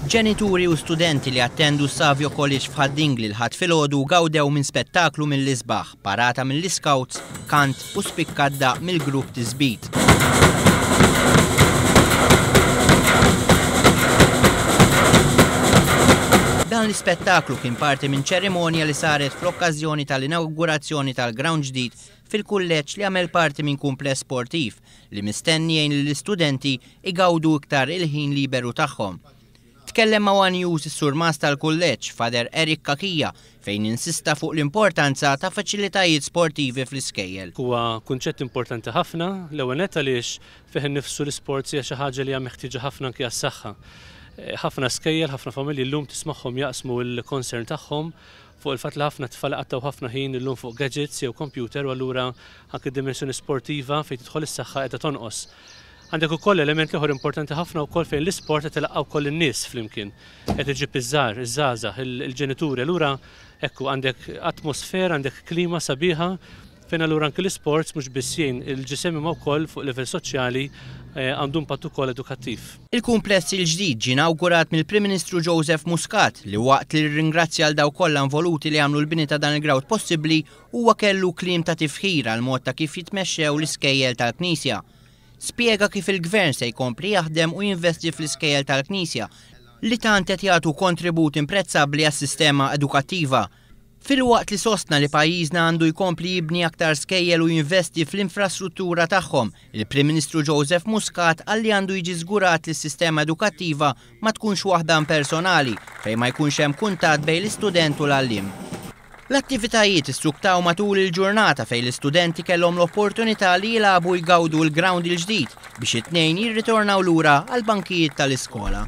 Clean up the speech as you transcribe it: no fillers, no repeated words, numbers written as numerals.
Ġenituri u studenti li attendu Savio College f'Ħad-Dingli l-Ħadd filgħodu gawdew minn spettaklu mill-isbaħ, parata mill-Iscouts, kant u spikkat daqq mill-grupp Tisbit. Dan l-ispettaklu kien parti minn ċerimonja li saret fl-okkażjoni tal-inawgurazzjoni tal-grawnd ġdid fil-kulleġġ li għamel parti minn kumpless sportiv li mistenni jgħin lill-istudenti igawdu iktar il-ħin liberu tagħhom. Tkellem ma' one News is-Surmast tal-Kulleġġ, Father Eric Cachia, fejn insista fuq l-importanza ta' faċilitajiet sportivi fl-iskejjel. Huwa kunċett importanti ħafna, l-ewwel nett għaliex fih innifsu l-isports hija xi ħaġa li hija meħtieġa ħafna anki għas-saħħa. Ħafna skejjel, ħafna familji llum tismagħhom jaqsmu l-concern tagħhom fuq il-fatt li ħafna tfal iqattgħu ħafna ħin illum fuq gadgets jew computer u allura anki d-dimensjoni sportiva fejn tidħol is-saħħa qiegħda tonqos. Għandek ukoll element ieħor importanti ħafna wkoll fejn l-isport qed ilaqqa' wkoll in-nies flimkien. Qed iġib iż-żgħar, iż-żgħażagħ, il-ġenituri. Allura hekk hu għandek atmosfera, għandek klima sabiħa fejn allura anki l-isports mhux biss jgħin il-ġisem imma wkoll fuq livell soċjali għandu impatt ukoll edukattiv. Il-kumpless il-ġdid ġie inawgurat mill-Prim Ministru Joseph Muscat li waqt li rringrazzja għal dawk kollha involuti li għamlu l-bini ta' dan il-grawd possibbli huwa kellu kliem ta' tifħir għall-mod ta' kif jitmexxew l-iskejjel tal-Knisja. Spjega kif il-Gvern se jkompli jaħdem u jinvesti fl-iskejjel tal-Knisja li tant qed jagħtu kontribut imprezzabbli għas-sistema edukattiva. Filwaqt li sostna li pajjiżna għandu jkompli jibni aktar skejjel u jinvesti fl-infrastruttura tagħhom, il-Prim Ministru Joseph Muscat qal li għandu jiġi żgurat li s-sistema edukattiva ma tkunx waħda impersonali fejn ma jkunx hemm kuntatt bejn l-istudent u l-għalliem. L-attivitajiet issuktaw matul il-ġurnata fejn l-istudenti kellhom l-opportunità li jilagħbu u jgawdu l-grawnd il-ġdid biex it-Tnejn jirritornaw lura għall-bankijiet tal-iskola.